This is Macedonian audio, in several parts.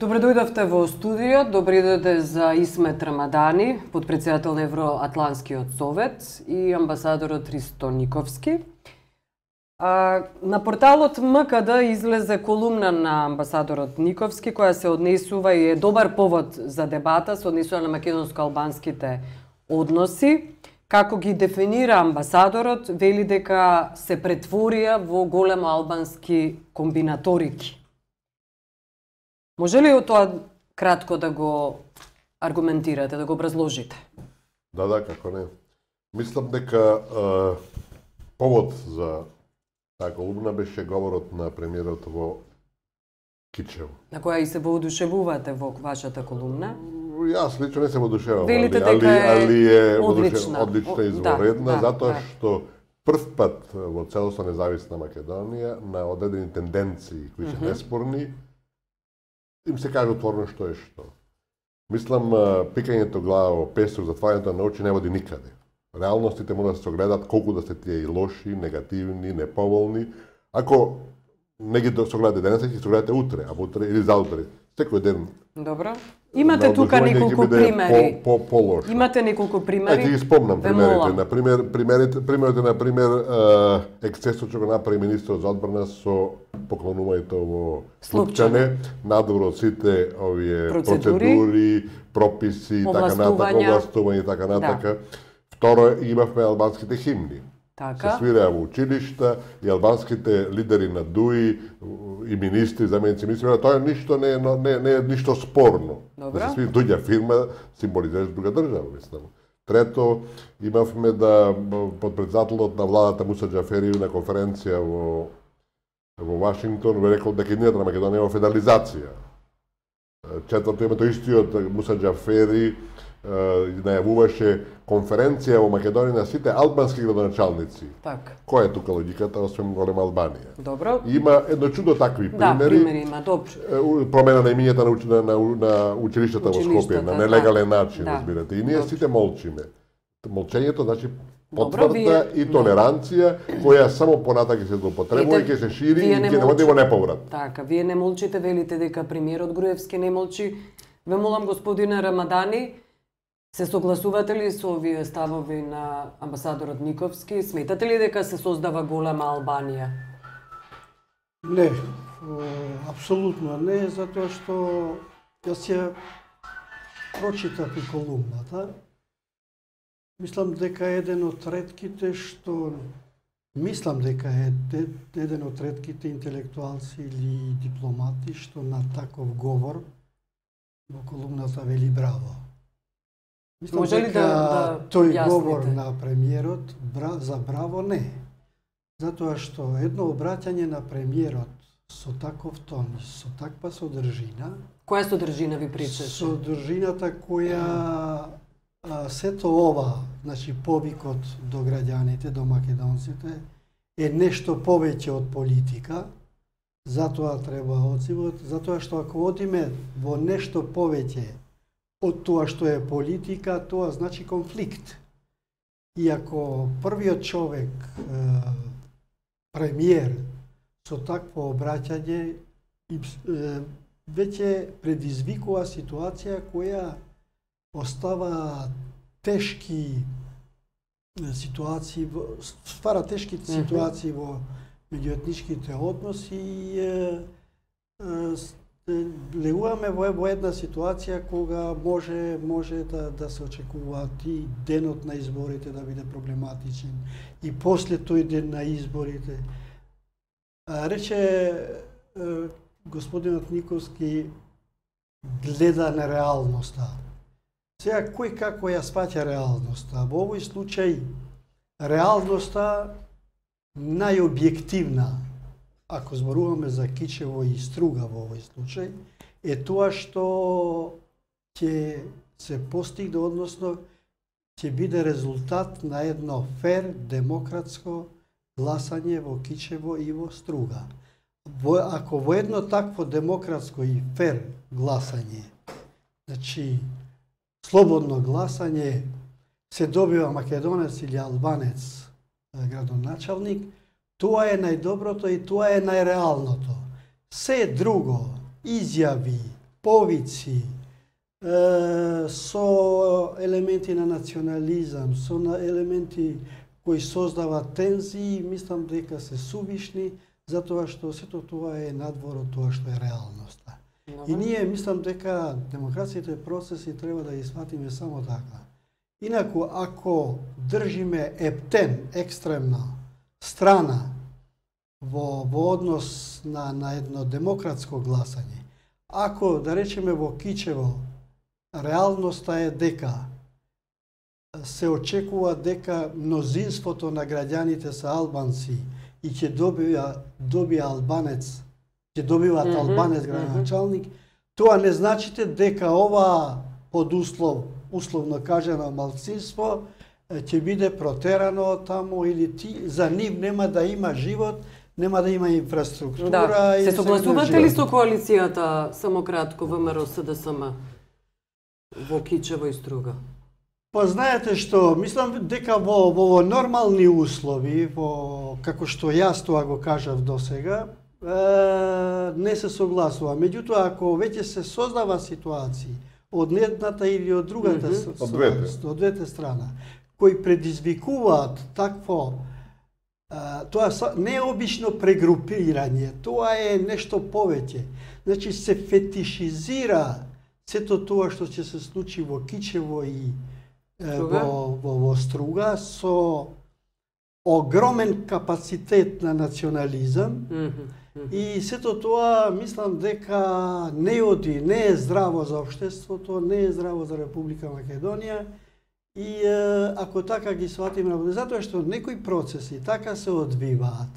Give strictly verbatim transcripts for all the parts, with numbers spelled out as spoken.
Добре дојдовте во студио, добре дојде за Исмет Рамадани, подпредседател на Евроатланскиот совет и амбасадорот Ристо Никовски. А, на порталот М К Д излезе колумна на амбасадорот Никовски која се однесува и е добар повод за дебата, се однесува на македонско-албанските односи. Како ги дефинира амбасадорот, вели дека се претворија во големо албански комбинаторики. Може ли тоа кратко да го аргументирате, да го образложите? Да, да, како не. Мислам дека е, повод за таа колумна беше говорот на премиерот во Кичево. На која и се воодушевувате во вашата колумна? Јас лично не се воодушевувам, Велите али, дека е али е одлична, одлична изворедна, да, да, затоа да. што прв пат во целосно независна Македонија на одредени тенденции кои се Мгм. неспорни им се каже отворено што е што. Мислам, пикањето глава во песок, затварањето на очи не води никаде. Реалностите мора да се огледат колку да се тие и лоши, негативни, неповолни. Ако не ги согледате денес, ќе согледате утре, а утре или заутре. Секој ден. Добро. Имате тука неколку примери. По, по, по Имате неколку примери. Ајде ги спомнам Ве примерите. молам. На пример, примерите, примерите на пример ексцесот што го направи министерот за одбрана со поклонувањето во Слупчане, надвор од сите овие Процедури, процедури, прописи и така натака, овластувања. овластување и така натака. Второ, имавме албанските химни. Така. Се свираа во училишта и албанските лидери на ДУИ и министри, заменици министри, тоа ништо не е не, не е ништо спорно. Добро. Да се свири дуѓа фирма символизира друга држава, мислам. Трето, имавме да подпредседателот на владата Муса Џафери на конференција во во Вашингтон рекол дека иднината на Македонија е во федерализација. Четврто, името истиот Муса Џафери најавуваше конференција во Македонија на сите албански градоначалници. Така. Која е тука логиката, освен голема Албанија? Добро. Има едно чудо такви Да, примери. примери има, добро. Промена на имињата на, уч- на, на, на училиштата во Скопје, Училиштата, на нелегален да. начин, Да. разбирате. И ние Добро. сите молчиме. Молчењето значи Добро, потврда вие- и толеранција, која само понатака ќе се злоупотребува и Ете, ќе се шири вие и не ќе не води во неповрат. Така, вие не молчите, велите дека премиерот Груевски не молчи. Ве молам, господине Рамадани, се согласувате ли со овие ставови на амбасадорот Никовски? Сметате ли дека се создава голема Албанија? Не, о, апсолутно не, затоа што јас ја прочитав и колумната. Мислам дека е еден од ретките што мислам дека е де- еден од ретките интелектуалци или дипломати што на таков говор во колумната вели браво. Мислам Може ли дека да- да тој јасните? говор на премиерот бра, за браво не. Затоа што едно обраќање на премиерот со таков тон, со таква содржина, Која содржина ви причаше? содржината која а, сето ова, значи повикот до граѓаните, до македонците, е нешто повеќе од политика, затоа треба одзивот, затоа што ако одиме во нешто повеќе од тоа што е политика, тоа значи конфликт. И ако првиот човек, е, премиер, со такво обраќање, и, е, веќе предизвикува ситуација која остава тешки е, ситуации, во- ствара тешки ситуации во меѓуетничките односи и е, е, с- е, легуваме во, во една ситуација кога може може да да се очекуваат и денот на изборите да биде проблематичен и после тој ден на изборите. А, рече е, господинот Никовски гледа на реалноста. Сега, кој како ја сваќа реалноста? Во овој случај, реалноста најобјективна, ако зборуваме за Кичево и Струга во овој случај, е тоа што ќе се постигне, односно ќе биде резултат на едно фер, демократско гласање во Кичево и во Струга. Во, ако во едно такво демократско и фер гласање, значи слободно гласање, се добива македонец или албанец градоначалник, тоа е најдоброто и тоа е најреалното. Се друго, изјави, повици, е, со елементи на национализам, со на елементи кои создаваат тензии, мислам дека се сувишни, затоа што сето тоа е надвор од тоа што е реалноста. Добре. И ние мислам дека демокрацијата процеси треба да ги сватиме само така. Инаку, ако држиме ептен, екстремна страна во, во однос на, на едно демократско гласање, ако, да речеме, во Кичево, реалноста е дека се очекува дека мнозинството на граѓаните се албанци и ќе добија, добија албанец, ќе добиваат mm -hmm, албанец градоначалник, mm -hmm. тоа не значите дека ова под услов, условно кажано малцинство, ќе биде протерано таму или ти, за нив нема да има живот, нема да има инфраструктура. Да. И се согласувате ли со коалицијата, само кратко, ВМРО С Д С М во Кичево и Струга? Па знаете што, мислам дека во, во нормални услови, во, како што јас тоа го кажав досега, е, не се согласува. Меѓутоа, ако веќе се создава ситуации од едната или од другата mm -hmm. од двете. од двете страна, кои предизвикуваат такво, а, тоа не е обично прегрупирање, тоа е нешто повеќе. Значи се фетишизира сето тоа што ќе се случи во Кичево и е, во, во, во Струга со огромен капацитет на национализам. Mm -hmm. И сето тоа мислам дека не оди, не е здраво за општеството, не е здраво за Република Македонија. И е, ако така ги сватиме, затоа што некои процеси така се одвиваат,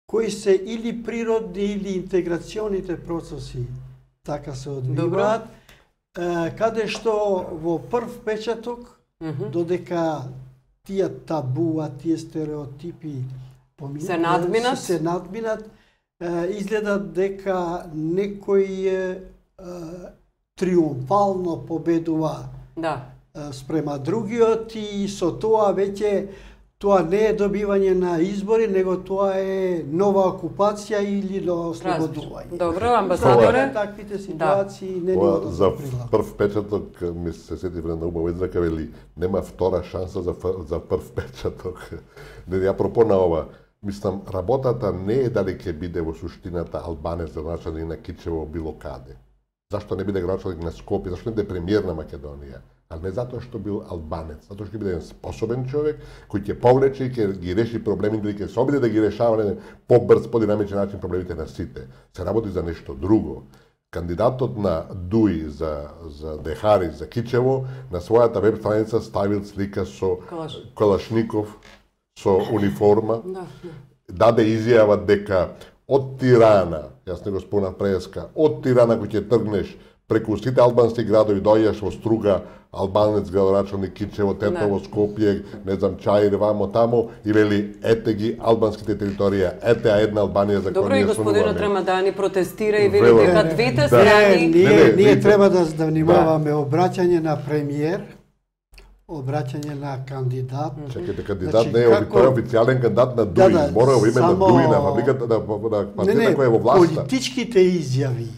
кои се или природни или интеграционите процеси така се одвиваат, е, каде што во прв печаток, mm -hmm. додека тие табуа, тие стереотипи поминат, се надминат, се надминат, е, изгледа дека некој е, триумфално победува. Да. Спрема другиот и со тоа веќе тоа не е добивање на избори, него тоа е нова окупација или нова ослободување. Добро, амбасадоре. Таквите ситуации да. Не ни за прв печаток ми се сети на убава израка вели нема втора шанса за за прв печаток. Не апропо на ова, мислам работата не е дали ќе биде во суштината албанец градоначалник на Кичево било каде. Зашто не биде градоначалник на Скопје, зашто не биде премиер на Македонија? А не затоа што бил албанец, затоа што ќе биде еден способен човек кој ќе повлече и ќе ги реши проблемите, ќе се обиде да ги решава на побрз, подинамичен начин проблемите на сите. Се работи за нешто друго. Кандидатот на ДУИ за за Дехари за Кичево на својата веб страница ставил слика со Калаш. Калашников со униформа. Да, да. Даде изјава дека од Тирана, јас не го спомнав преска, од Тирана кој ќе тргнеш преку сите албански градови, дојдеш во Струга, албанец градоначалник Кичево, Тетово, Скопје, не знам, Чаир, вамо тамо, и вели, ете ги албанските територија, ете а една Албанија за која ние Добро, и господинот Рамадани протестира и вели дека двете страни... Не, ние, ние треба да внимаваме обраќање на премиер, обраќање на кандидат. Чекайте, кандидат не е тој официјален кандидат на ДУИ, да, мора во име на ДУИ, на фабриката, на партијата која е во власта. Политичките изјави,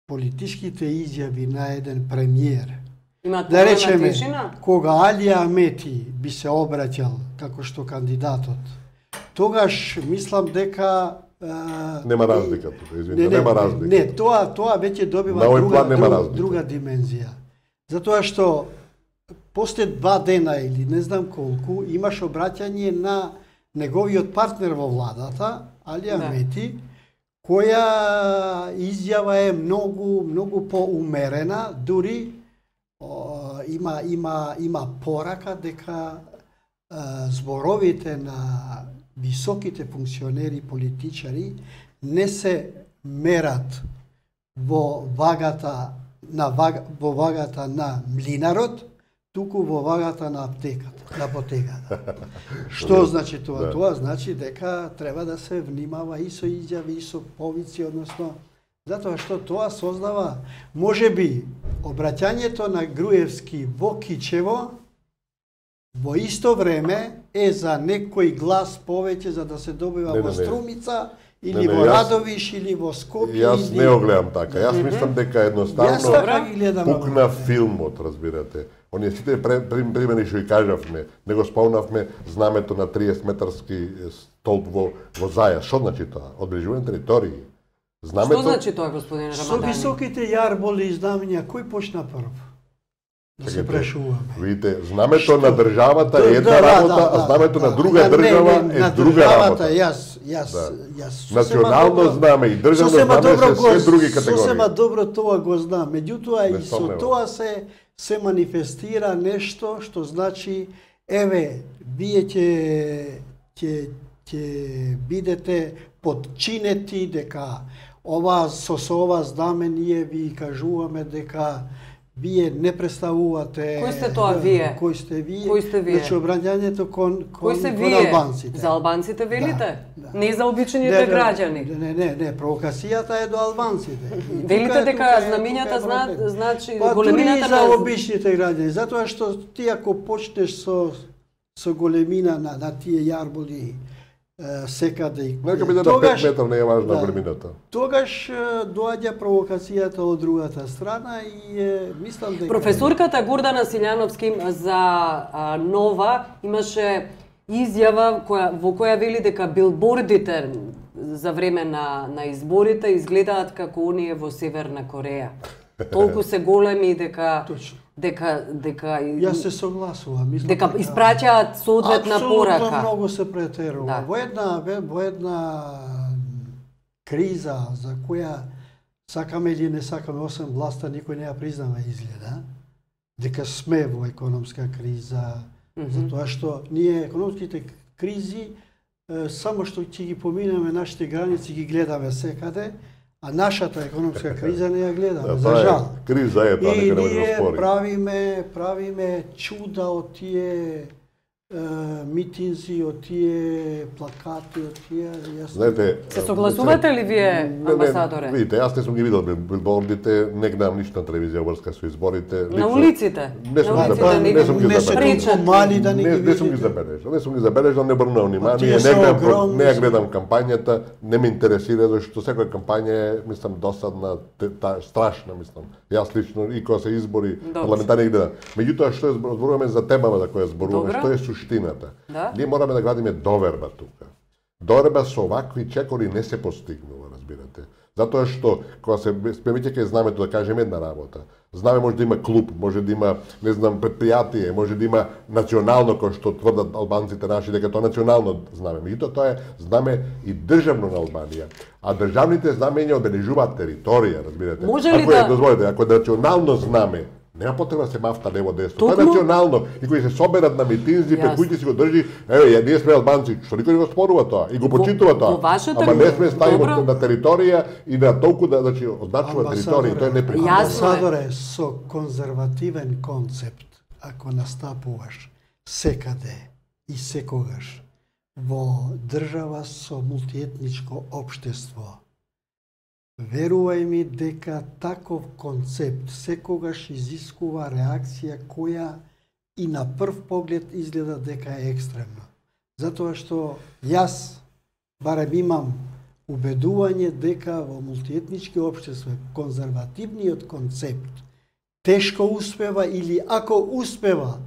политичките изјави на еден премиер, да речеме, кога Алија Амети би се обраќал како што кандидатот, тогаш мислам дека нема разлика тука, извинете, нема разлика. Не, тоа тоа веќе добива друга друга, друга димензија. Затоа што после два дена или не знам колку имаш обраќање на неговиот партнер во владата, Алија да. Амети, која изјава е многу многу поумерена, дури о, има има има порака дека е, зборовите на високите функционери политичари не се мерат во вагата на ваг, во вагата на млинарот, туку во вагата на аптеката, на апотеката. Што значи тоа? Да. Тоа значи дека треба да се внимава и со изјави, и со повици, односно, затоа што тоа создава, можеби, обраќањето на Груевски во Кичево, во исто време, е за некој глас повеќе за да се добива Не, во не, не. Струмица или Не, не, во јас- Радовиш или во Скопје. Јас или... не го гледам така. Јас мислам дека Јас едноставно така ги гледам. пукна филмот, разбирате. Оние сите пре- при- примери што ги кажавме, не го спомнавме знамето на триесет метарски столб во во Заја. Што значи тоа? Одбележување територии. Знамето Што значи тоа, господине Со Рамадани? високите јарболи и знамења, кој почна прв? Да се Чекайте, прашуваме. Видите, знамето Што? на државата Да, е една да, работа, да, а да, знамето да. на друга Ја, не, држава не, е на друга државата, работа. Јас, јас, Да. јас сосема Национално добро- знаме и државно сосема знаме добро се го- све други категории. Сосема добро тоа го знам. Меѓутоа Не и со сомневам. тоа се се манифестира нешто што значи еве вие ќе ќе ќе бидете подчинети дека ова со со ова знаме ние ви кажуваме дека вие не представувате. Кој сте тоа вие? Кој сте вие? Кој сте вие? Значи обрањањето кон кон, Кој се кон вие? албанците. За албанците велите? Да, да. Не за обичаните Не, не, граѓани. Не, не, не, провокацијата е до албанците. И тука Велите е- дека тука е- знамињата тука е знаат, проблем. значи Па дури и големината за на обичните граѓани, затоа што ти ако почнеш со со големина на, на тие јарболи е, секаде и Нека биде на тогаш- пет метра, не е важна да. големината. Тогаш е, доаѓа провокацијата од другата страна и е, мислам дека Професорката Гордана Силјановски за а, Нова имаше изјава која, во која вели дека билбордите за време на, на изборите изгледаат како оние во Северна Кореја. Толку се големи дека Точно. дека дека Јас се согласувам, мислам дека испраќаат соодветна Апсолутно порака. многу се претерува. Да. Во една ве- во една криза за која сакаме или не сакаме, освен власта, никој не ја признава изгледа, дека сме во економска криза, затоа што ние економските кризи е, само што ќе ги поминеме нашите граници ги гледаме секаде, а нашата економска криза не ја гледаме, Да, за тоа е жал. криза е тоа, И нека не може да ние спори. правиме, правиме чуда од тие е, митинзи, од тие плакати, од тие... Јас... Знаете, Се согласувате ли вие, Не, не, амбасадоре? Видите, јас не сум ги видел билбордите, не гледам ништо на телевизија врска со изборите. На улиците. Не сум На ги улиците забележал, не сум ги не се забележал. толку мали да не Не, ги не сум ги видите. забележал, не сум ги забележал, не обрнувам тие внимание, се не гледам, огромни, не ја се. гледам кампањата, не ме интересира зашто секоја кампања е, мислам, досадна, те- та, страшна, мислам. Јас лично и кога се избори Добро. парламентарни ги гледам. Меѓутоа што е збор- зборуваме за темава за која зборуваме, Добро. што е суштината. Да. Ние мораме да градиме доверба тука. Доверба со овакви чекори не се постигнува, разбирате. Затоа што кога се спремиќе кај знамето да кажеме една работа. Знаме може да има клуб, може да има, не знам, предпријатие, може да има национално, кој што тврдат албанците наши дека тоа е национално знаме. Меѓутоа тоа е знаме и државно на Албанија. А државните знамења одбележуваат територија, разбирате. Може ли ако е, да- дозволите, ако е национално знаме, нема потреба да се мафта лево десно. Тоа е Токму- национално. И кои се соберат на митинзи, пред Јасно. кои си го држи, еве, ја ние сме албанци, што никој не го спорува тоа и го Во- почитува тоа. во вашата Ама не сме добро. ставимо на територија и на толку да, значи, означува територија, тоа е неприкладно. Јасно е. Амбасадоре, со конзервативен концепт, ако настапуваш секаде и секогаш во држава со мултиетничко општество, верувај ми дека таков концепт секогаш изискува реакција која и на прв поглед изгледа дека е екстремна. Затоа што јас барем имам убедување дека во мултиетнички општества конзервативниот концепт тешко успева или ако успева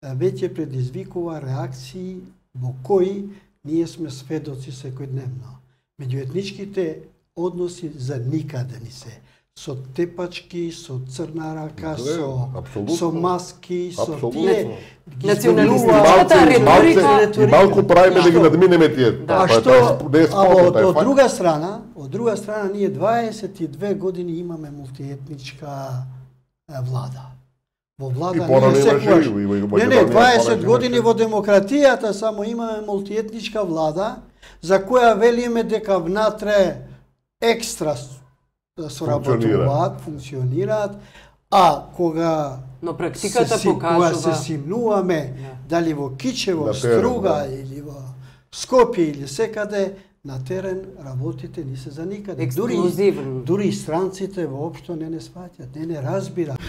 веќе предизвикува реакции во кои ние сме сведоци секојдневно. Меѓуетничките односи за никаде ни се. Со тепачки, со црна рака, Не, со, апсолутно. со маски, со Апсолутно. тие... ги Националистичката зборуваат- риторика- И малку правиме да ги Што? надминеме тие. Да. А Тоа е- што, тоа не е а спорно, од, тоа е од факт. друга страна, од друга страна ние дваесет и две години имаме мултиетничка е, влада. Во влада И порано ние имаше, секогаш... и во- и во Не, Македонија не, дваесет порано години имаше. во демократијата само имаме мултиетничка влада за која велиме дека внатре екстра с- соработуваат, функционираат, а кога Но практиката се, си- кога се покажува симнуваме Да. дали во Кичево, На терен, Струга да. или во Скопје или секаде, на терен работите не се за никаде. Дури, Ексклузивно. дури и странците воопшто не не сваќат, не не разбираат.